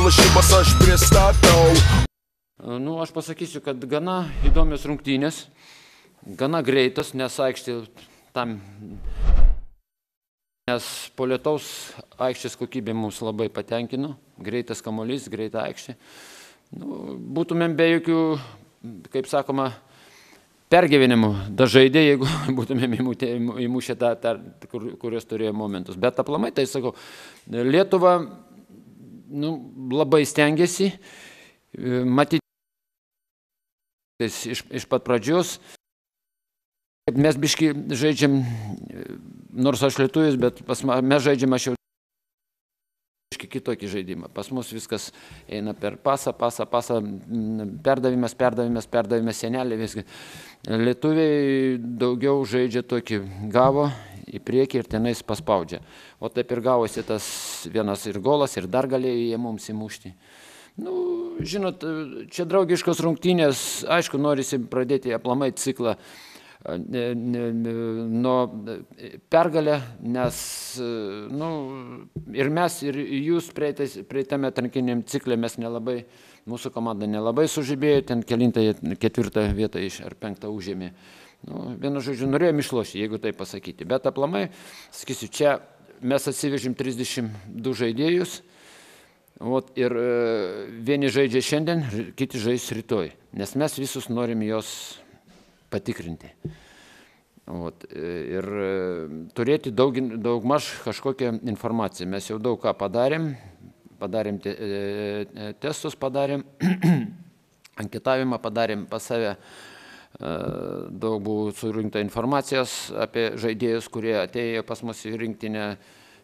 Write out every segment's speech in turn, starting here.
lažybas aš pristatau. Nu, aš pasakysiu, kad gana įdomios rungtynės, gana greitas, nes aikštė tam, nes po lietaus aikštės kokybė mums labai patenkino, greitas kamuolys, greita aikštė. Nu, būtumėm be jokių, kaip sakoma, pergyvenimų dažaidė, jeigu būtumėm įmušę tą, kurios turėjo momentus. Bet aplamai, tai sakau, Lietuva labai stengiasi, matyti iš pat pradžios. Mes biški žaidžiam, nors aš lietuvis, bet mes žaidžiam aš jau kitokį žaidimą. Pas mus viskas eina per pasą, perdavimas, senelį, viskas. Lietuviai daugiau žaidžia tokį gavo į priekį ir tenais paspaudžia. O taip ir gavosi tas vienas ir golas, ir dar galėjo jie mums įmušti. Nu, žinot, čia draugiškos rungtynės, aišku, norisi pradėti aplamai ciklą nuo pergalę, nes ir mes, ir jūs praeitame atrankiniam cikle mes nelabai, mūsų komanda nelabai sužibėjo, ten kelintą ketvirtą vietą ar penktą užėmė. Vienu žodžiu, norėjom išlošti, jeigu tai pasakyti. Bet aplamai, sakysiu, čia mes atsivežim 32 žaidėjus, ir vieni žaidžia šiandien, kiti žais rytoj, nes mes visus norim jos patikrinti. Ir turėti daugmaž kažkokią informaciją. Mes jau daug ką padarėm testus, anketavimą padarėm pas save, daug buvo surinkta informacijos apie žaidėjus, kurie atėjo pas mus į rinktinę,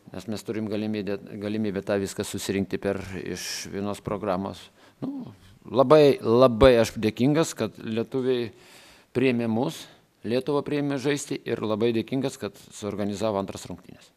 nes mes turim galimybę tą viską susirinkti iš vienos programos. Labai aš dėkingas, kad lietuviai priėmė mus, Lietuva priėmė žaisti ir labai dėkingas, kad suorganizavo antras rungtynes.